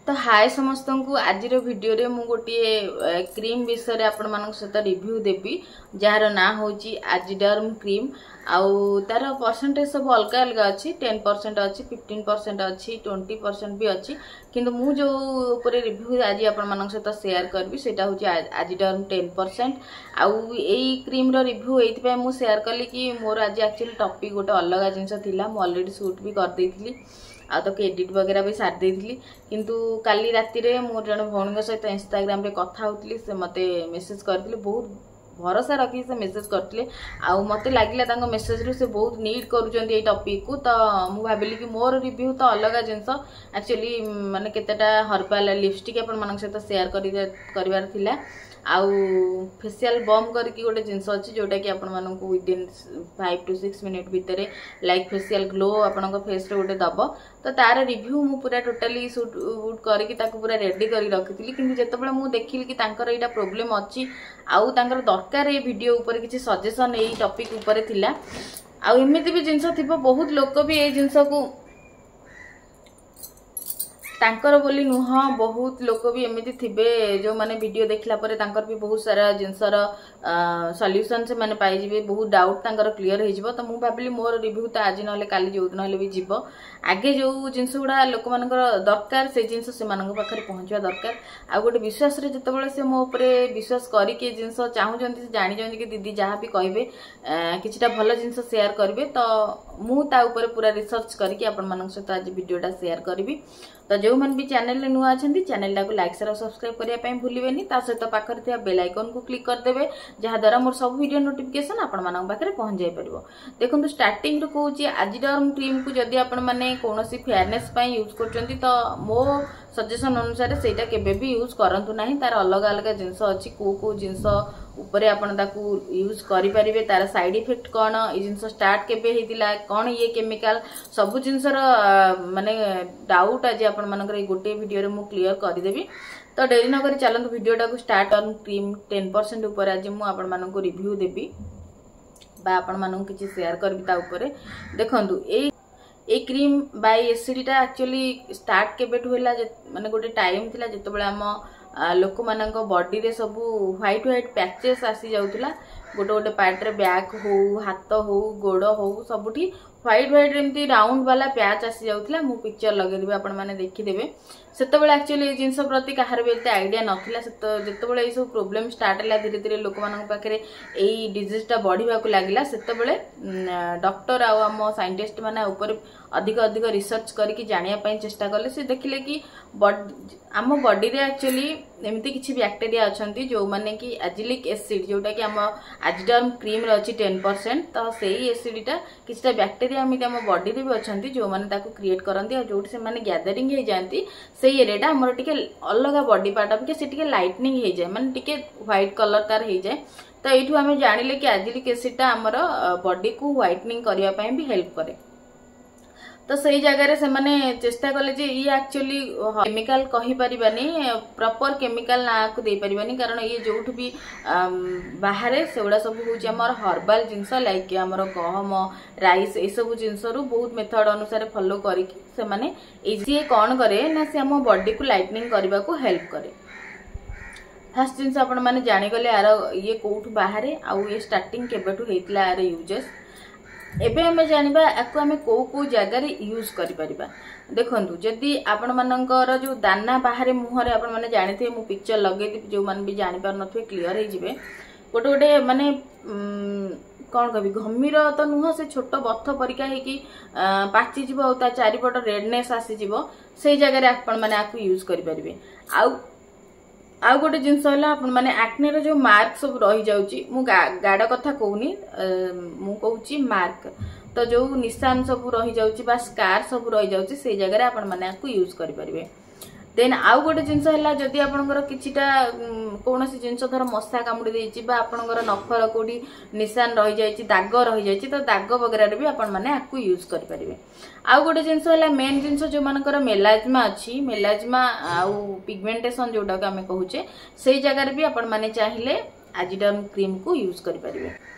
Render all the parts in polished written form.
ତ ହାଏ ସମସ୍ତଙ୍କୁ। ଆଜିର ଭିଡ଼ିଓରେ ମୁଁ ଗୋଟିଏ କ୍ରିମ୍ ବିଷୟରେ ଆପଣମାନଙ୍କ ସହିତ ରିଭ୍ୟୁ ଦେବି, ଯାହାର ନାଁ ହେଉଛି ଆଜିଡର୍ମ କ୍ରିମ୍। ଆଉ ତାର ପରସେଣ୍ଟେଜ ସବୁ ଅଲଗା ଅଲଗା ଅଛି। 10% ଅଛି, 15% ଅଛି, 20% ବି ଅଛି। କିନ୍ତୁ ମୁଁ ଯେଉଁ ଉପରେ ରିଭ୍ୟୁ ଆଜି ଆପଣମାନଙ୍କ ସହିତ ସେୟାର କରିବି, ସେଇଟା ହେଉଛି ଆଜିଡର୍ମ 10%। ଆଉ ଏଇ କ୍ରିମ୍ର ରିଭ୍ୟୁ ଏଇଥିପାଇଁ ମୁଁ ସେୟାର କଲି କି ମୋର ଆଜି ଆକ୍ଚୁଆଲି ଟପିକ୍ ଗୋଟେ ଅଲଗା ଜିନିଷ ଥିଲା। ମୁଁ ଅଲରେଡ଼ି ସୁଟ୍ ବି କରିଦେଇଥିଲି ଆଉ ତାକୁ ଏଡ଼ିଟ୍ ବଗେରା ବି ସାରି ଦେଇଥିଲି। କିନ୍ତୁ କାଲି ରାତିରେ ମୁଁ ଜଣେ ଭଉଣୀଙ୍କ ସହିତ ଇନଷ୍ଟାଗ୍ରାମରେ କଥା ହେଉଥିଲି। ସେ ମୋତେ ମେସେଜ୍ କରିଥିଲେ, ବହୁତ ଭରସା ରଖିକି ସେ ମେସେଜ୍ କରିଥିଲେ। ଆଉ ମୋତେ ଲାଗିଲା ତାଙ୍କ ମେସେଜରୁ ସେ ବହୁତ ନିଡ୍ କରୁଛନ୍ତି ଏଇ ଟପିକ୍କୁ। ତ ମୁଁ ଭାବିଲି କି ମୋର ରିଭ୍ୟୁ ତ ଅଲଗା ଜିନିଷ, ଆକ୍ଚୁଆଲି ମାନେ କେତେଟା ହର୍ବାଲ ଲିପଷ୍ଟିକ୍ ଆପଣମାନଙ୍କ ସହିତ ସେୟାର କରିବାର ଥିଲା ଆଉ ଫେସିଆଲ ବମ୍ କରିକି ଗୋଟେ ଜିନିଷ ଅଛି, ଯେଉଁଟାକି ଆପଣମାନଙ୍କୁ ୱିଦିନ୍ 5 ଟୁ 6 ମିନିଟ୍ ଭିତରେ ଲାଇକ୍ ଫେସିଆଲ ଗ୍ଲୋ ଆପଣଙ୍କ ଫେସ୍ରେ ଗୋଟେ ଦେବ। ତ ତାର ରିଭ୍ୟୁ ମୁଁ ପୁରା ଟୋଟାଲି ସୁଟ୍ ବୁଟ୍ କରିକି ତାକୁ ପୁରା ରେଡ଼ି କରିକି ରଖିଥିଲି। କିନ୍ତୁ ଯେତେବେଳେ ମୁଁ ଦେଖିଲି କି ତାଙ୍କର ଏଇଟା ପ୍ରୋବ୍ଲେମ୍ ଅଛି ଆଉ ତାଙ୍କର ଦରକାର ଏଇ ଭିଡ଼ିଓ ଉପରେ କିଛି ସଜେସନ୍, ଏଇ ଟପିକ୍ ଉପରେ ଥିଲା, ଆଉ ଏମିତି ବି ଜିନିଷ ଥିବ, ବହୁତ ଲୋକ ବି ଏଇ ଜିନିଷକୁ, ତାଙ୍କର ବୋଲି ନୁହଁ, ବହୁତ ଲୋକ ବି ଏମିତି ଥିବେ ଯେଉଁମାନେ ଭିଡ଼ିଓ ଦେଖିଲା ପରେ ତାଙ୍କର ବି ବହୁତ ସାରା ଜିନିଷର ସଲ୍ୟୁସନ୍ ସେମାନେ ପାଇଯିବେ, ବହୁତ ଡାଉଟ୍ ତାଙ୍କର କ୍ଲିୟର ହେଇଯିବ। ତ ମୁଁ ଭାବିଲି ମୋର ରିଭ୍ୟୁ ତ ଆଜି ନହେଲେ କାଲି, ଯେଉଁଦିନ ହେଲେ ବି ଯିବ। ଆଗେ ଯେଉଁ ଜିନିଷ ଗୁଡ଼ା ଲୋକମାନଙ୍କର ଦରକାର, ସେଇ ଜିନିଷ ସେମାନଙ୍କ ପାଖରେ ପହଞ୍ଚିବା ଦରକାର। ଆଉ ଗୋଟେ ବିଶ୍ୱାସରେ ଯେତେବେଳେ ସେ ମୋ ଉପରେ ବିଶ୍ୱାସ କରିକି ଏ ଜିନିଷ ଚାହୁଁଛନ୍ତି, ସେ ଜାଣିଛନ୍ତି କି ଦିଦି ଯାହା ବି କହିବେ କିଛିଟା ଭଲ ଜିନିଷ ସେୟାର କରିବେ। ତ ମୁଁ ତା ଉପରେ ପୁରା ରିସର୍ଚ୍ଚ କରିକି ଆପଣମାନଙ୍କ ସହିତ ଆଜି ଭିଡ଼ିଓଟା ସେୟାର କରିବି। ତ ଯେଉଁମାନେ ବି ଚ୍ୟାନେଲରେ ନୂଆ ଅଛନ୍ତି, ଚ୍ୟାନେଲଟାକୁ ଲାଇକ୍, ସେୟାର ଆଉ ସବସ୍କ୍ରାଇବ୍ କରିବା ପାଇଁ ଭୁଲିବେନି। ତା ସହିତ ପାଖରେ ଥିବା ବେଲ୍ ଆଇକନ୍କୁ କ୍ଲିକ୍ କରିଦେବେ, ଯାହାଦ୍ୱାରା ମୋର ସବୁ ଭିଡ଼ିଓ ନୋଟିଫିକେସନ୍ ଆପଣମାନଙ୍କ ପାଖରେ ପହଞ୍ଚି ଯାଇପାରିବ। ଦେଖନ୍ତୁ, ଷ୍ଟାର୍ଟିଂରୁ କହୁଛି, ଆଜିଡର୍ମ କ୍ରିମ୍କୁ ଯଦି ଆପଣମାନେ କୌଣସି ଫେୟାରନେସ୍ ପାଇଁ ୟୁଜ୍ କରୁଛନ୍ତି, ତ ମୋ ସଜେସନ୍ ଅନୁସାରେ ସେଇଟା କେବେ ବି ୟୁଜ୍ କରନ୍ତୁ ନାହିଁ। ତାର ଅଲଗା ଅଲଗା ଜିନିଷ ଅଛି, କେଉଁ କେଉଁ ଜିନିଷ ଉପରେ ଆପଣ ତାକୁ ୟୁଜ୍ କରିପାରିବେ, ତାର ସାଇଡ୍ ଇଫେକ୍ଟ କ'ଣ, ଏଇ ଜିନିଷ ଷ୍ଟାର୍ଟ କେବେ ହେଇଥିଲା, କ'ଣ ଇଏ କେମିକାଲ, ସବୁ ଜିନିଷର ମାନେ ଡାଉଟ୍ ଆଜି ଆପଣମାନଙ୍କର ଏଇ ଗୋଟିଏ ଭିଡ଼ିଓରେ ମୁଁ କ୍ଲିୟର କରିଦେବି। ତ ଡେରି ନକରି ଚାଲନ୍ତୁ ଭିଡ଼ିଓଟାକୁ ଷ୍ଟାର୍ଟ। ଅନ୍ କ୍ରିମ୍ 10% ଉପରେ ଆଜି ମୁଁ ଆପଣମାନଙ୍କୁ ରିଭ୍ୟୁ ଦେବି ବା ଆପଣମାନଙ୍କୁ କିଛି ସେୟାର କରିବି ତା ଉପରେ। ଦେଖନ୍ତୁ, ଏଇ କ୍ରିମ୍ ବାଇ ଏସିଡ଼ିଟା ଆକ୍ଚୁଆଲି ଷ୍ଟାର୍ଟ କେବେଠୁ ହେଲା? ମାନେ ଗୋଟେ ଟାଇମ୍ ଥିଲା ଯେତେବେଳେ ଆମ ଲୋକମାନଙ୍କ ବଡିରେ ସବୁ ହ୍ୱାଇଟ୍ ହ୍ୱାଇଟ୍ ପ୍ୟାଚେସ୍ ଆସିଯାଉଥିଲା। ଗୋଟେ ଗୋଟେ ପାର୍ଟରେ, ବ୍ୟାକ୍ ହଉ, ହାତ ହଉ, ଗୋଡ଼ ହଉ, ସବୁଠି ହ୍ୱାଇଟ୍ ହ୍ୱାଇଟ୍ ଏମିତି ରାଉଣ୍ଡ ବାଲା ପ୍ୟାଚ୍ ଆସିଯାଉଥିଲା। ମୁଁ ପିକ୍ଚର ଲଗେଇଦେବି, ଆପଣମାନେ ଦେଖିଦେବେ। ସେତେବେଳେ ଆକ୍ଚୁଆଲି ଏଇ ଜିନିଷ ପ୍ରତି କାହାର ବି ଏତେ ଆଇଡ଼ିଆ ନଥିଲା। ଯେତେବେଳେ ଏଇସବୁ ପ୍ରୋବ୍ଲେମ୍ ଷ୍ଟାର୍ଟ ହେଲା, ଧୀରେ ଧୀରେ ଲୋକମାନଙ୍କ ପାଖରେ ଏଇ ଡିଜିଜ୍ଟା ବଢ଼ିବାକୁ ଲାଗିଲା, ସେତେବେଳେ ଡକ୍ଟର ଆଉ ଆମ ସାଇଣ୍ଟିଷ୍ଟ ମାନେ ଉପରେ ଅଧିକ ଅଧିକ ରିସର୍ଚ୍ଚ କରିକି ଜାଣିବା ପାଇଁ ଚେଷ୍ଟା କଲେ। ସେ ଦେଖିଲେ କି ଆମ ବଡିରେ ଆକ୍ଚୁଆଲି ଏମିତି କିଛି ବ୍ୟାକ୍ଟେରିଆ ଅଛନ୍ତି, ଯେଉଁମାନେ କି ଆଜିଲିକ୍ ଏସିଡ୍, ଯେଉଁଟାକି ଆମ ଆଜିଡର୍ମ କ୍ରିମ୍ରେ ଅଛି 10%, ତ ସେଇ ଏସିଡ୍ଟା କିଛିଟା ବ୍ୟାକ୍ଟେରିଆ ଏମିତି ଆମ ବଡିରେ ବି ଅଛନ୍ତି ଯେଉଁମାନେ ତାକୁ କ୍ରିଏଟ୍ କରନ୍ତି। ଆଉ ଯେଉଁଠି ସେମାନେ ଗ୍ୟାଦରିଂ ହେଇଯାଆନ୍ତି, ସେଇ ଏରିଆଟା ଆମର ଟିକେ ଅଲଗା ବଡି ପାର୍ଟ ଅପେକ୍ଷା ସେ ଟିକେ ଲାଇଟନିଂ ହେଇଯାଏ, ମାନେ ଟିକେ ହ୍ୱାଇଟ୍ କଲର୍ ତାର ହେଇଯାଏ। ତ ଏଇଠୁ ଆମେ ଜାଣିଲେ କି ଆଜିଲିକ୍ ଏସିଡ୍ଟା ଆମର ବଡିକୁ ହ୍ୱାଇଟନିଂ କରିବା ପାଇଁ ବି ହେଲ୍ପ କରେ। ତ ସେଇ ଜାଗାରେ ସେମାନେ ଚେଷ୍ଟା କଲେ ଯେ ଇଏ ଆକ୍ଚୁଆଲି କେମିକାଲ କହିପାରିବାନି, ପ୍ରପର କେମିକାଲ ନାଁକୁ ଦେଇପାରିବାନି, କାରଣ ଇଏ ଯୋଉଠୁ ବି ବାହାରେ ସେଗୁଡ଼ା ସବୁ ହେଉଛି ଆମର ହର୍ବାଲ ଜିନିଷ, ଲାଇକ୍ ଆମର ଗହମ, ରାଇସ୍, ଏସବୁ ଜିନିଷରୁ ବହୁତ ମେଥଡ ଅନୁସାରେ ଫଲୋ କରିକି ସେମାନେ ଏଇ ସିଏ କ'ଣ କରେ ନା ସେ ଆମ ବଡିକୁ ଲାଇଟନିଂ କରିବାକୁ ହେଲ୍ପ କରେ। ଫାର୍ଷ୍ଟ ଜିନିଷ ଆପଣମାନେ ଜାଣିଗଲେ ଆର ଇଏ କୋଉଠୁ ବାହାରେ ଆଉ ଇଏ ଷ୍ଟାର୍ଟିଂ କେବେଠୁ ହେଇଥିଲା, ଆର ୟୁଜେସ୍। ଏବେ ଆମେ ଜାଣିବା ୟାକୁ ଆମେ କୋଉ କୋଉ ଜାଗାରେ ୟୁଜ୍ କରିପାରିବା। ଦେଖନ୍ତୁ, ଯଦି ଆପଣମାନଙ୍କର ଯୋଉ ଦାନା ବାହାରେ ମୁହଁରେ, ଆପଣମାନେ ଜାଣିଥିବେ, ମୁଁ ପିକ୍ଚର ଲଗେଇଦେବି, ଯୋଉମାନେ ବି ଜାଣିପାରୁନଥିବେ କ୍ଲିୟର ହେଇଯିବେ। ଗୋଟେ ଗୋଟେ ମାନେ କ'ଣ କହିବି, ଘମିର ତ ନୁହଁ, ସେ ଛୋଟ ବଥ ପରିକା ହେଇକି ପାଚିଯିବ ଆଉ ତା ଚାରିପଟ ରେଡନେସ୍ ଆସିଯିବ, ସେଇ ଜାଗାରେ ଆପଣମାନେ ଆକୁ ୟୁଜ୍ କରିପାରିବେ। ଆଉ ଗୋଟେ ଜିନିଷ ହେଲା, ଆପଣମାନେ ଆକ୍ନେର ଯୋଉ ମାର୍କ ସବୁ ରହିଯାଉଛି, ମୁଁ ଗାଡ଼ କଥା କହୁନି, ମୁଁ କହୁଛି ମାର୍କ, ତ ଯୋଉ ନିଶାନ ସବୁ ରହିଯାଉଛି ବା ସ୍କାର ସବୁ ରହିଯାଉଛି, ସେଇ ଜାଗାରେ ଆପଣମାନେ ଆକୁ ୟୁଜ୍ କରିପାରିବେ। ଦେନ୍ ଆଉ ଗୋଟେ ଜିନିଷ ହେଲା, ଯଦି ଆପଣଙ୍କର କିଛିଟା କୌଣସି ଜିନିଷ, ଧର ମଶା କାମୁଡ଼ି ଦେଇଛି ବା ଆପଣଙ୍କର ନଖର କୋଉଠି ନିଶାନ ରହିଯାଇଛି, ଦାଗ ରହିଯାଇଛି, ତ ଦାଗ ବଗେରାରେ ବି ଆପଣମାନେ ଆକୁ ୟୁଜ୍ କରିପାରିବେ। ଆଉ ଗୋଟେ ଜିନିଷ ହେଲା, ମେନ୍ ଜିନିଷ, ଯୋଉମାନଙ୍କର ମେଲାଜମା ଅଛି, ମେଲାଜମା ଆଉ ପିଗମେଣ୍ଟେସନ ଯୋଉଟାକୁ ଆମେ କହୁଛେ, ସେଇ ଜାଗାରେ ବି ଆପଣମାନେ ଚାହିଁଲେ ଆଜିଡର୍ମ କ୍ରିମକୁ ୟୁଜ୍ କରିପାରିବେ।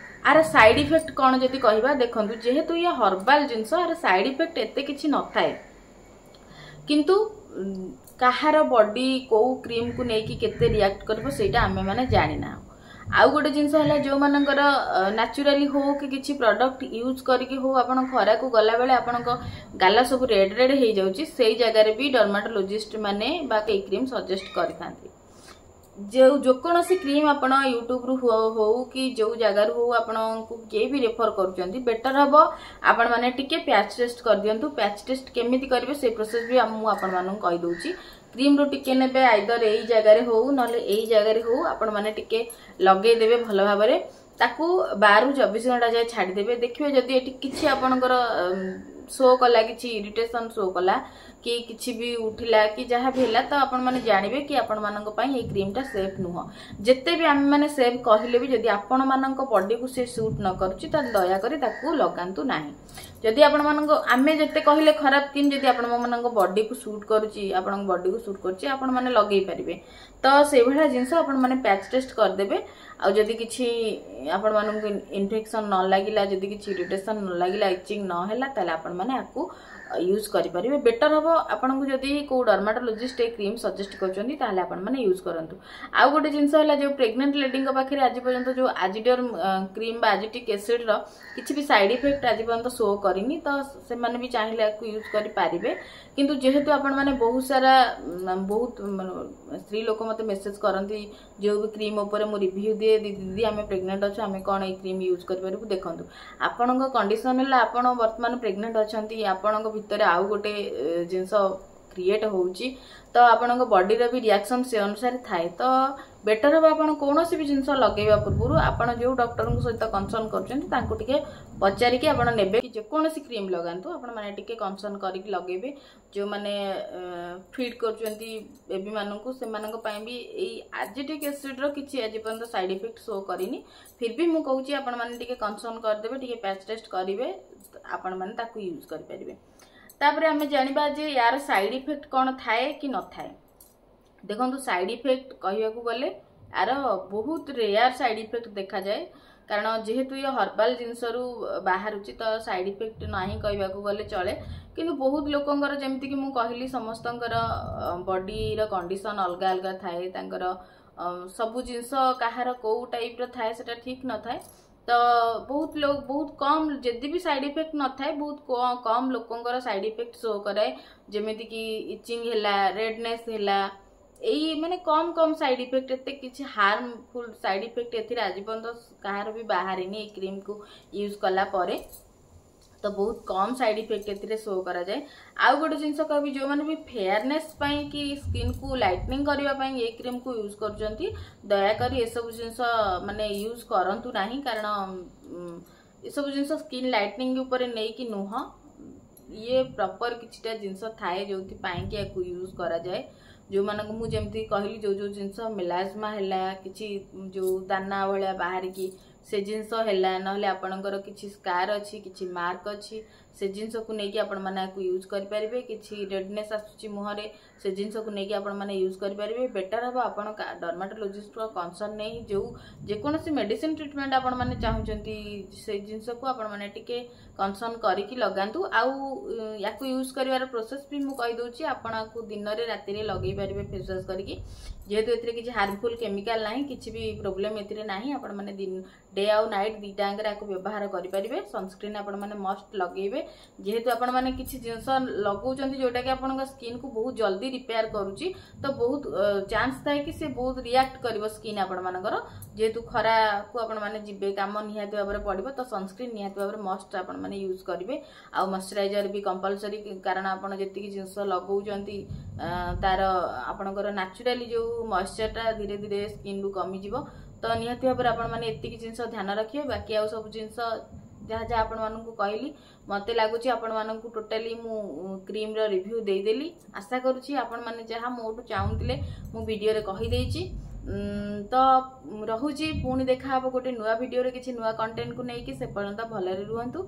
ଆର ସାଇଡ୍ ଇଫେକ୍ଟ କ'ଣ ଯଦି କହିବା, ଦେଖନ୍ତୁ, ଯେହେତୁ ଇଏ ହର୍ବାଲ ଜିନିଷ, ଆର ସାଇଡ୍ ଇଫେକ୍ଟ ଏତେ କିଛି ନଥାଏ। କିନ୍ତୁ କାହାର ବଡି କୋଉ କ୍ରିମକୁ ନେଇକି କେତେ ରିଆକ୍ଟ କରିବ, ସେଇଟା ଆମେମାନେ ଜାଣିନାହୁଁ। ଆଉ ଗୋଟେ ଜିନିଷ ହେଲା, ଯୋଉମାନଙ୍କର ନ୍ୟାଚୁରାଲି ହଉ କି କିଛି ପ୍ରଡକ୍ଟ ୟୁଜ୍ କରିକି ହଉ, ଆପଣ ଖରାକୁ ଗଲାବେଳେ ଆପଣଙ୍କ ଗାଲ ସବୁ ରେଡ୍ ରେଡ୍ ହେଇଯାଉଛି, ସେଇ ଜାଗାରେ ବି ଡର୍ମାଟୋଲୋଜିଷ୍ଟ ମାନେ ବା ଏଇ କ୍ରିମ୍ ସଜେଷ୍ଟ କରିଥାନ୍ତି। ଯେକୌଣସି କ୍ରିମ୍ ଆପଣ ୟୁଟ୍ୟୁବରୁ ହଉ କି ଯୋଉ ଜାଗାରୁ ହଉ, ଆପଣଙ୍କୁ କିଏ ବି ରେଫର କରୁଛନ୍ତି, ବେଟର ହବ ଆପଣମାନେ ଟିକେ ପ୍ୟାଚ୍ ଟେଷ୍ଟ କରିଦିଅନ୍ତୁ। ପ୍ୟାଚ୍ ଟେଷ୍ଟ କେମିତି କରିବେ, ସେଇ ପ୍ରୋସେସ ବି ମୁଁ ଆପଣମାନଙ୍କୁ କହିଦଉଛି। କ୍ରିମରୁ ଟିକେ ନେବେ, ଆଇଦର ଏଇ ଜାଗାରେ ହଉ ନହେଲେ ଏଇ ଜାଗାରେ ହଉ, ଆପଣମାନେ ଟିକେ ଲଗେଇଦେବେ ଭଲ ଭାବରେ। ତାକୁ 12ରୁ 24 ଘଣ୍ଟା ଯାଏ ଛାଡ଼ିଦେବେ। ଦେଖିବେ, ଯଦି ଏଠି କିଛି ଆପଣଙ୍କର ଶୋ କଲା, କିଛି ଇରିଟେସନ ଶୋ କଲା କି କିଛି ବି ଉଠିଲା କି ଯାହା ବି ହେଲା, ତ ଆପଣମାନେ ଜାଣିବେ କି ଆପଣମାନଙ୍କ ପାଇଁ ଏଇ କ୍ରିମଟା ସେଫ୍ ନୁହଁ। ଯେତେ ବି ଆମେମାନେ ସେଫ୍ କହିଲେ ବି ଯଦି ଆପଣମାନଙ୍କ ବଡିକୁ ସେ ସୁଟ୍ ନ କରୁଛି, ତାହେଲେ ଦୟାକରି ତାକୁ ଲଗାନ୍ତୁ ନାହିଁ। ଯଦି ଆପଣମାନଙ୍କ, ଆମେ ଯେତେ କହିଲେ ଖରାପ କ୍ରିମ୍, ଯଦି ଆପଣମାନଙ୍କ ବଡିକୁ ସୁଟ୍ କରୁଛି, ଆପଣଙ୍କ ବଡିକୁ ସୁଟ୍ କରୁଛି, ଆପଣମାନେ ଲଗେଇ ପାରିବେ। ତ ସେଇଭଳିଆ ଜିନିଷ ଆପଣମାନେ ପ୍ୟାଚ୍ ଟେଷ୍ଟ କରିଦେବେ। ଆଉ ଯଦି କିଛି ଆପଣମାନଙ୍କୁ ଇନଫେକ୍ସନ ନ ଲାଗିଲା, ଯଦି କିଛି ଇରିଟେସନ ନ ଲାଗିଲା, ଇଚିଂ ନ ହେଲା, ତାହେଲେ ଆପଣମାନେ ଆକୁ ୟୁଜ୍ କରିପାରିବେ। ବେଟର ହବ, ଆପଣଙ୍କୁ ଯଦି କୋଉ ଡର୍ମାଟୋଲୋଜିଷ୍ଟ ଏ କ୍ରିମ୍ ସଜେଷ୍ଟ କରୁଛନ୍ତି, ତାହେଲେ ଆପଣମାନେ ୟୁଜ୍ କରନ୍ତୁ। ଆଉ ଗୋଟେ ଜିନିଷ ହେଲା, ଯୋଉ ପ୍ରେଗନେଣ୍ଟ ଲେଡିଙ୍କ ପାଖରେ ଆଜି ପର୍ଯ୍ୟନ୍ତ ଯୋଉ ଆଜିଡର୍ମ କ୍ରିମ୍ ବା ଆଜିଟିକ୍ ଏସିଡର କିଛି ବି ସାଇଡ୍ ଇଫେକ୍ଟ ଆଜି ପର୍ଯ୍ୟନ୍ତ ଶୋ କରିନି, ତ ସେମାନେ ବି ଚାହିଁଲେ ଆକୁ ୟୁଜ୍ କରିପାରିବେ। କିନ୍ତୁ ଯେହେତୁ ଆପଣମାନେ ବହୁତ ସାରା ବହୁତ ସ୍ତ୍ରୀ ଲୋକ ମୋତେ ମେସେଜ କରନ୍ତି, ଯୋଉ ବି କ୍ରିମ୍ ଉପରେ ମୁଁ ରିଭ୍ୟୁ ଦିଏ, "ଦିଦି, ଆମେ ପ୍ରେଗନେଣ୍ଟ ଅଛୁ, ଆମେ କ'ଣ ଏଇ କ୍ରିମ୍ ୟୁଜ୍ କରିପାରିବୁ?" ଦେଖନ୍ତୁ, ଆପଣଙ୍କ କଣ୍ଡିସନ ହେଲା ଆପଣ ବର୍ତ୍ତମାନ ପ୍ରେଗନେଣ୍ଟ ଅଛନ୍ତି, ଆପଣଙ୍କ ଭିତରେ ଆଉ ଗୋଟେ ଜିନିଷ କ୍ରିଏଟ୍ ହେଉଛି, ତ ଆପଣଙ୍କ ବଡିର ବି ରିଆକ୍ସନ ସେ ଅନୁସାରେ ଥାଏ। ତ ବେଟର ହେବ, ଆପଣ କୌଣସି ବି ଜିନିଷ ଲଗେଇବା ପୂର୍ବରୁ ଆପଣ ଯୋଉ ଡକ୍ଟରଙ୍କ ସହିତ କନସଲ୍ଟ କରୁଛନ୍ତି, ତାଙ୍କୁ ଟିକେ ପଚାରିକି ଆପଣ ନେବେ କି ଯେକୌଣସି କ୍ରିମ୍ ଲଗାନ୍ତୁ, ଆପଣମାନେ ଟିକେ କନସଲ୍ଟ କରିକି ଲଗେଇବେ। ଯେଉଁମାନେ ଫିଡ୍ କରୁଛନ୍ତି ବେବିମାନଙ୍କୁ, ସେମାନଙ୍କ ପାଇଁ ବି ଏଇ ଆଜିଟିକ୍ ଏସିଡ୍ର କିଛି ଆଜି ପର୍ଯ୍ୟନ୍ତ ସାଇଡ୍ ଇଫେକ୍ଟ ଶୋ କରିନି। ଫିର୍ ବି ମୁଁ କହୁଛି, ଆପଣମାନେ ଟିକେ କନସଲ୍ଟ କରିଦେବେ, ଟିକେ ପ୍ୟାଚ୍ ଟେଷ୍ଟ କରିବେ, ଆପଣମାନେ ତାକୁ ୟୁଜ୍ କରିପାରିବେ। ତାପରେ ଆମେ ଜାଣିବା ଯେ ୟାର ସାଇଡ୍ ଇଫେକ୍ଟ କ'ଣ ଥାଏ କି ନଥାଏ। ଦେଖନ୍ତୁ, ସାଇଡ୍ ଇଫେକ୍ଟ କହିବାକୁ ଗଲେ ୟାର ବହୁତ ରେୟାର ସାଇଡ୍ ଇଫେକ୍ଟ ଦେଖାଯାଏ। କାରଣ ଯେହେତୁ ଇଏ ହର୍ବାଲ ଜିନିଷରୁ ବାହାରୁଛି, ତ ସାଇଡ୍ ଇଫେକ୍ଟ ନାହିଁ କହିବାକୁ ଗଲେ ଚଳେ। କିନ୍ତୁ ବହୁତ ଲୋକଙ୍କର, ଯେମିତିକି ମୁଁ କହିଲି, ସମସ୍ତଙ୍କର ବଡିର କଣ୍ଡିସନ ଅଲଗା ଅଲଗା ଥାଏ। ତାଙ୍କର ସବୁ ଜିନିଷ କାହାର କୋଉ ଟାଇପର ଥାଏ, ସେଟା ଠିକ୍ ନଥାଏ। ତ ବହୁତ ଲୋକ, ବହୁତ କମ୍, ଯଦି ବି ସାଇଡ୍ ଇଫେକ୍ଟ ନଥାଏ, ବହୁତ କମ୍ ଲୋକଙ୍କର ସାଇଡ୍ ଇଫେକ୍ଟ ଶୋ କରାଏ। ଯେମିତିକି ଇଚିଂ ହେଲା, ରେଡନେସ୍ ହେଲା, ଏଇ ମାନେ କମ୍ କମ୍ ସାଇଡ୍ ଇଫେକ୍ଟ। ଏତେ କିଛି ହାର୍ମଫୁଲ୍ ସାଇଡ୍ ଇଫେକ୍ଟ ଏଥିରେ ଆଜି ପର୍ଯ୍ୟନ୍ତ କାହାର ବି ବାହାରିନି ଏଇ କ୍ରିମ୍କୁ ୟୁଜ୍ କଲା ପରେ। ତ ବହୁତ କମ୍ ସାଇଡ୍ ଇଫେକ୍ଟ ଏଥିରେ ଶୋ କରାଯାଏ। ଆଉ ଗୋଟେ ଜିନିଷ କହିବି, ଯେଉଁମାନେ ବି ଫେୟାରନେସ୍ ପାଇଁ କି ସ୍କିନ୍କୁ ଲାଇଟନିଂ କରିବା ପାଇଁ ଏଇ କ୍ରିମ୍କୁ ୟୁଜ୍ କରୁଛନ୍ତି, ଦୟାକରି ଏସବୁ ଜିନିଷ ମାନେ ୟୁଜ୍ କରନ୍ତୁ ନାହିଁ। କାରଣ ଏସବୁ ଜିନିଷ ସ୍କିନ୍ ଲାଇଟନିଂ ଉପରେ ନେଇକି ନୁହଁ। ଇଏ ପ୍ରପର କିଛିଟା ଜିନିଷ ଥାଏ, ଯୋଉଥିପାଇଁ କି ୟାକୁ ୟୁଜ୍ କରାଯାଏ। ଯେଉଁମାନଙ୍କୁ ମୁଁ ଯେମିତି କହିଲି, ଯୋଉ ଯୋଉ ଜିନିଷ ମେଲାଜମା ହେଲା, କିଛି ଯୋଉ ଦାନା ଭଳିଆ ବାହାରିକି ସେ ଜିନିଷ ହେଲା, ନହେଲେ ଆପଣଙ୍କର କିଛି ସ୍କାର ଅଛି, କିଛି ମାର୍କ ଅଛି, ସେ ଜିନିଷକୁ ନେଇକି ଆପଣମାନେ ଆକୁ ୟୁଜ୍ କରିପାରିବେ। କିଛି ରେଡନେସ୍ ଆସୁଛି ମୁହଁରେ, ସେ ଜିନିଷକୁ ନେଇକି ଆପଣମାନେ ୟୁଜ୍ କରିପାରିବେ। ବେଟର ହେବ, ଆପଣ ଡର୍ମାଟୋଲୋଜିଷ୍ଟଙ୍କ କନସଲ୍ଟ ନେଇ ଯେଉଁ ଯେକୌଣସି ମେଡିସିନ ଟ୍ରିଟମେଣ୍ଟ ଆପଣମାନେ ଚାହୁଁଛନ୍ତି, ସେଇ ଜିନିଷକୁ ଆପଣମାନେ ଟିକେ କନସଲ୍ଟ କରିକି ଲଗାନ୍ତୁ। ଆଉ ୟାକୁ ୟୁଜ୍ କରିବାର ପ୍ରୋସେସ୍ ବି ମୁଁ କହିଦେଉଛି। ଆପଣ ଆକୁ ଦିନରେ ରାତିରେ ଲଗେଇ ପାରିବେ ଫେସ୍ ୱାଶ୍ କରିକି। ଯେହେତୁ ଏଥିରେ କିଛି ହାର୍ମଫୁଲ୍ କେମିକାଲ ନାହିଁ, କିଛି ବି ପ୍ରୋବ୍ଲେମ୍ ଏଥିରେ ନାହିଁ, ଆପଣମାନେ ଡେ ଆଉ ନାଇଟ୍ ଦୁଇଟା ଆଙ୍କରେ ଆକୁ ବ୍ୟବହାର କରିପାରିବେ। ସନସ୍କ୍ରିନ୍ ଆପଣମାନେ ମଷ୍ଟ ଲଗେଇବେ। ଯେହେତୁ ଆପଣମାନେ କିଛି ଜିନିଷ ଲଗାଉଛନ୍ତି ଯୋଉଟାକି ଆପଣଙ୍କ ସ୍କିନ୍କୁ ବହୁତ ଜଲ୍ଦି ରିପେୟାର କରୁଛି, ତ ବହୁତ ଚାନ୍ସ ଥାଏ କି ସେ ବହୁତ ରିଆକ୍ଟ କରିବ ସ୍କିନ୍ ଆପଣମାନଙ୍କର। ଯେହେତୁ ଖରାକୁ ଆପଣମାନେ ଯିବେ, କାମ ନିହାତି ଭାବରେ ପଡ଼ିବ, ତ ସନସ୍କ୍ରିନ୍ ନିହାତି ଭାବରେ ମଷ୍ଟ ଆପଣମାନେ ୟୁଜ୍ କରିବେ। ଆଉ ମଶ୍ଚରାଇଜର ବି କମ୍ପଲସରି। କାରଣ ଆପଣ ଯେତିକି ଜିନିଷ ଲଗାଉଛନ୍ତି, ତାର ଆପଣଙ୍କର ନ୍ୟାଚୁରାଲି ଯୋଉ ମଏଶ୍ଚରଟା ଧୀରେ ଧୀରେ ସ୍କିନ୍ରୁ କମିଯିବ। ତ ନିହାତି ଭାବରେ ଆପଣମାନେ ଏତିକି ଜିନିଷ ଧ୍ୟାନ ରଖିବେ। ବାକି ଆଉ ସବୁ ଜିନିଷ ଯାହା ଯାହା ଆପଣମାନଙ୍କୁ କହିଲି, ମୋତେ ଲାଗୁଛି ଆପଣମାନଙ୍କୁ ଟୋଟାଲି ମୁଁ କ୍ରିମ୍ର ରିଭ୍ୟୁ ଦେଇଦେଲି। ଆଶା କରୁଛି ଆପଣମାନେ ଯାହା ମୋଠୁ ଚାହୁଁଥିଲେ, ମୁଁ ଭିଡ଼ିଓରେ କହିଦେଇଛି। ତ ରହୁଛି, ପୁଣି ଦେଖାହବ ଗୋଟେ ନୂଆ ଭିଡ଼ିଓରେ କିଛି ନୂଆ କଣ୍ଟେଣ୍ଟକୁ ନେଇକି। ସେ ପର୍ଯ୍ୟନ୍ତ ଭଲରେ ରୁହନ୍ତୁ।